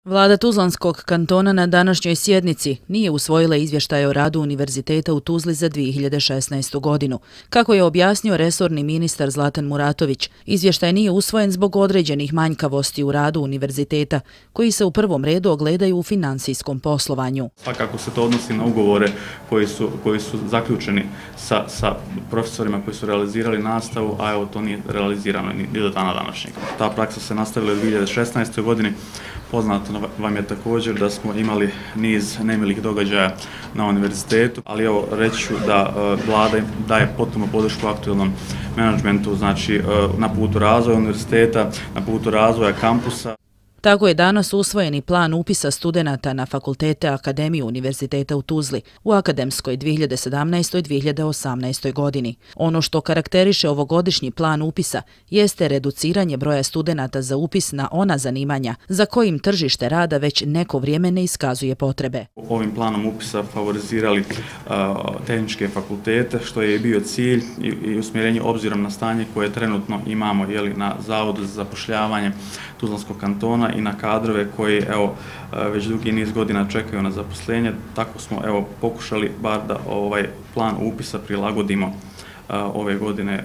Vlada Tuzlanskog kantona na današnjoj sjednici nije usvojila izvještaj o radu Univerziteta u Tuzli za 2016. godinu. Kako je objasnio resorni ministar Zlatan Muratović, izvještaj nije usvojen zbog određenih manjkavosti u radu univerziteta, koji se u prvom redu ogledaju u financijskom poslovanju. Svakako se to odnosi na ugovore koji su zaključeni sa profesorima koji su realizirali nastavu, a evo to nije realizirano ni do dana današnjeg. Ta praksa se nastavila u 2016. godini. Poznato vam je također da smo imali niz nemilih događaja na univerzitetu, ali evo reći ću da Vlada daje potpunu podršku aktualnom menadžmentu, znači na putu razvoja univerziteta, na putu razvoja kampusa. Tako je danas usvojeni plan upisa studenata na fakultete Akademije Univerziteta u Tuzli u akademskoj 2017-2018. godini. Ono što karakteriše ovogodišnji plan upisa jeste reduciranje broja studenata za upis na ona zanimanja za kojim tržište rada već neko vrijeme ne iskazuje potrebe. Ovim planom upisa favorizirali tehničke fakultete, što je bio cilj i usmjerenje obzirom na stanje koje trenutno imamo na Zavodu za zapošljavanje Tuzlanskog kantona i na kadrove koji već dugi niz godina čekaju na zaposlenje. Tako smo pokušali bar da ovaj plan upisa prilagodimo ove godine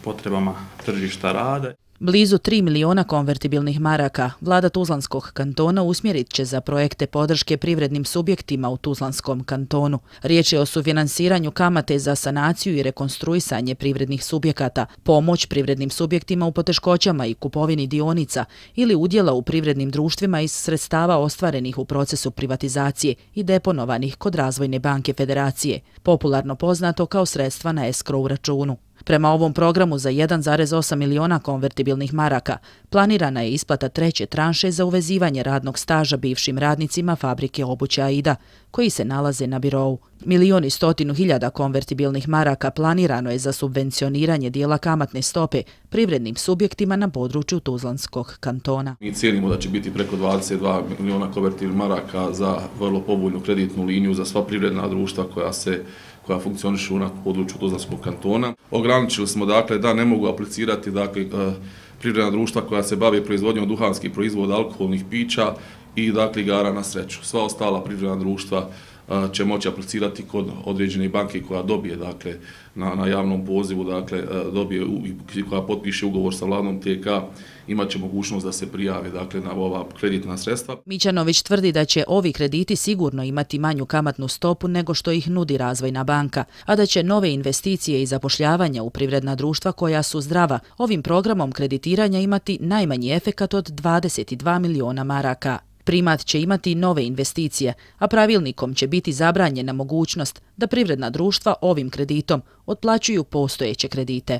potrebama tržišta rada. Blizu 3 miliona konvertibilnih maraka Vlada Tuzlanskog kantona usmjerit će za projekte podrške privrednim subjektima u Tuzlanskom kantonu. Riječ je o sufinansiranju kamate za sanaciju i rekonstruisanje privrednih subjekata, pomoć privrednim subjektima u poteškoćama i kupovini dionica ili udjela u privrednim društvima iz sredstava ostvarenih u procesu privatizacije i deponovanih kod Razvojne banke Federacije, popularno poznato kao sredstva na escrow računu. Prema ovom programu za 1,8 miliona konvertibilnih maraka planirana je isplata treće tranše za uvezivanje radnog staža bivšim radnicima fabrike obuće Aida, koji se nalaze na birou. 1.100.000 konvertibilnih maraka planirano je za subvencioniranje dijela kamatne stope privrednim subjektima na području Tuzlanskog kantona. Mi cijenimo da će biti preko 22 miliona konvertibilnih maraka za vrlo povoljnu kreditnu liniju za sva privredna društva koja funkcionišu na području Tuzlanskog kantona. Ograničili smo da ne mogu aplicirati privredna društva koja se bave proizvodnjom duhanskih proizvoda, alkoholnih pića i igara na sreću. Sva ostala privredna društva će moći aplicirati kod određene banke koja dobije na javnom pozivu, dobije koja potpiše ugovor sa Vladom TK, imat će mogućnost da se prijave na ova kreditna sredstva. Mićanović tvrdi da će ovi krediti sigurno imati manju kamatnu stopu nego što ih nudi Razvojna banka, a da će nove investicije i zapošljavanja u privredna društva koja su zdrava ovim programom kreditiranja imati najmanji efekat od 22 miliona maraka. Primat će imati nove investicije, a pravilnikom će biti zabranjena mogućnost da privredna društva ovim kreditom otplaćuju postojeće kredite.